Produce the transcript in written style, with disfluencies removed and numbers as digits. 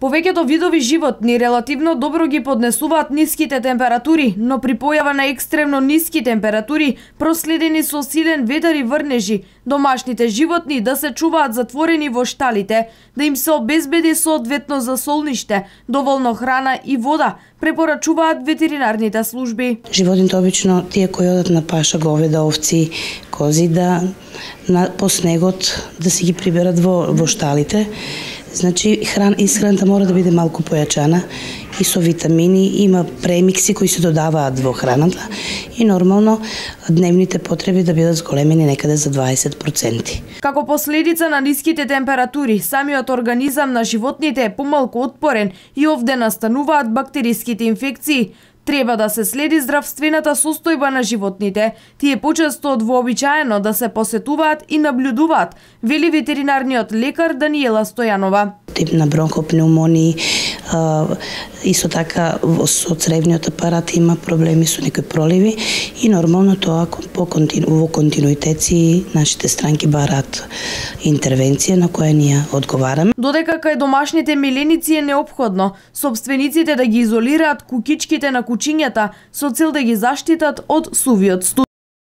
Повеќето видови животни релативно добро ги поднесуваат ниските температури, но при појава на екстремно ниски температури, проследени со силен ветар и врнежи, домашните животни да се чуваат затворени во шталите, да им се обезбеди соодветно засолниште, доволно храна и вода, препорачуваат ветеринарните служби. Животните обично тие кои одат на паша, говеда, овци, кози, да по снегот да си ги приберат во шталите. Значи, исхраната мора да биде малку појачана и со витамини, има премикси кои се додаваат во храната и нормално дневните потреби да бидат зголемени некаде за 20%. Како последица на ниските температури, самиот организам на животните е помалку отпорен и овде настануваат бактериските инфекции. Треба да се следи здравствената состојба на животните. Тие почесто од вообичаено да се посетуваат и наблюдуваат, вели ветеринарниот лекар Даниела Стојанова. Тип на бронхопнеумонии, исто така со цревниот апарат има проблеми со некои проливи и нормално тоа во континуитет нашите странки бараат интервенција на која ние одговараме. Додека кај домашните миленици е неопходно сопствениците да ги изолираат кукичките на кучињата со цел да ги заштитат од сувиот студ.